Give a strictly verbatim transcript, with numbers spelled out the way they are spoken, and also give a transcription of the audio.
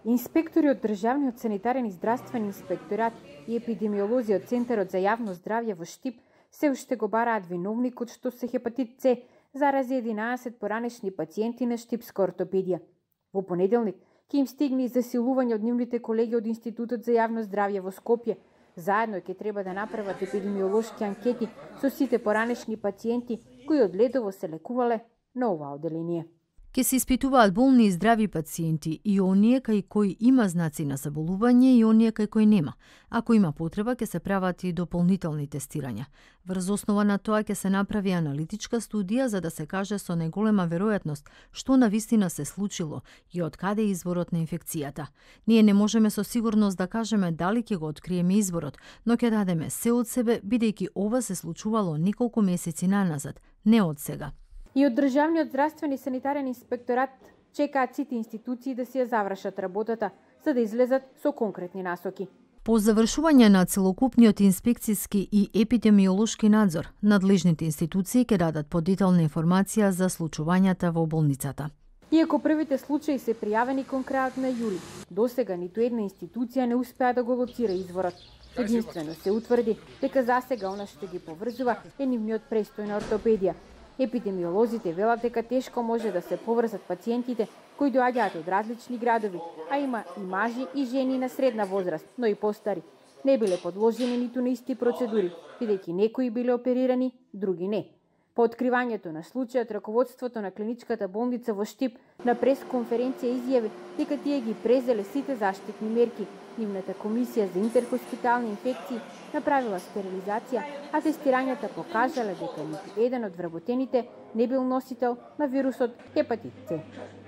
Инспектори од Државниот санитарен и здравствен инспекторат и епидемиолози од Центарот за јавно здравје во Штип се уште го бараат виновникот што се хепатит С зарази единаесет поранешни пациенти на Штипска ортопедија. Во понеделник ќе им стигне и засилување од нивните колеги од Институтот за јавно здравје во Скопје. Заедно ќе треба да направат епидемиолошки анкети со сите поранешни пациенти кои од летово се лекувале на ова оделение. Ке се испитуваат болни и здрави пациенти, и оние кај кои има знаци на заболување и оние кај кои нема. Ако има потреба, ќе се прават и дополнителни тестирања. Врз основа на тоа ќе се направи аналитичка студија за да се каже со најголема веројатност што навистина се случило и од каде е изворот на инфекцијата. Ние не можеме со сигурност да кажеме дали ќе го откриеме изворот, но ќе дадеме се од себе бидејќи ова се случувало неколку месеци наназад, не од сега. И од Државниот здравствен и санитарен инспекторат чекаат сите институции да си ја завршат работата, за да излезат со конкретни насоки. По завршување на целокупниот инспекцијски и епидемиолошки надзор, надлежните институции ќе дадат подетална информација за случувањата во болницата. Иако првите случаи се пријавени кон крајот на јули, досега ниту една институција не успеа да го лоцира изворот. Единствено се утврди дека засега она што ги поврзува е нивниот престој на ортопедија. Епидемиолозите велат дека тешко може да се поврзат пациентите кои доаѓаат од различни градови, а има и мажи и жени на средна возраст, но и постари. Не биле подложени ниту на исти процедури, бидејќи некои биле оперирани, други не. По откривањето на случајот, раководството на клиничката болница во Штип на пресконференција изјави дека тие ги презеле сите заштитни мерки. Нивната комисија за интерхоспитални инфекции направила стерилизација, а тестирањата покажале дека ниту еден од вработените не бил носител на вирусот хепатит С.